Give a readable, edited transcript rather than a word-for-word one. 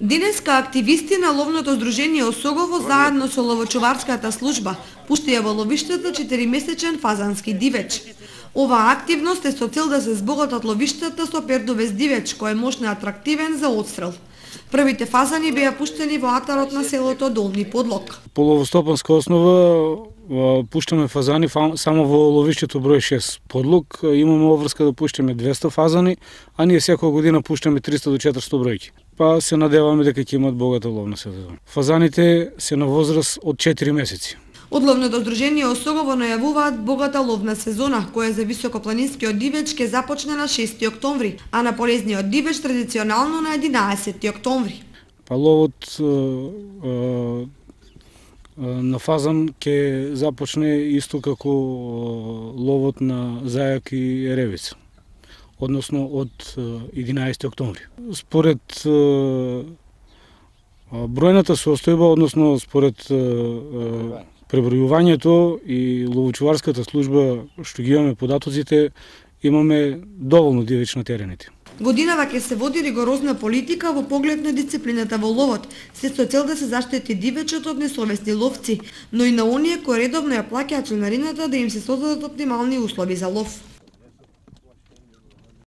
Денеска активисти на ловното здружение Осогово заедно со ловочуварската служба пуштија во ловиштата 4-месечен фазански дивеч. Оваа активност е со цел да се збогатат ловиштата со пердовес дивеч кој е мощно атрактивен за одстрел. Првите фазани беа пуштени во атарот на селото Долни Подлог. По ловостопанска основа пуштаме фазани само во ловиштето број 6 Подлог. Имаме обврска да пуштаме 200 фазани, а ние секоја година пуштаме 300 до 400 бројки. Па се надеваме дека ќе имат богата ловна сезона. Фазаните се на возраст од 4 месеци. Од ловното здружение Осогово најавуваат богата ловна сезона, која за високопланинскиот дивеч ќе започне на 6 октомври, а на полезниот дивеч традиционално на 11 октомври. Па ловот на фазан ќе започне исто како ловот на зајак и еревица, односно од 11 октомври. Според бројната состојба, односно според пребројувањето и ловочуварската служба што ги имаме податоците, имаме доволно дивеч на терените. Годинава ќе се води ригорозна политика во поглед на дисциплината во ловот, се со цел да се заштити дивечот од несовесни ловци, но и на оние кои редовно ја плаќаат членарината да им се создадат оптимални услови за лов.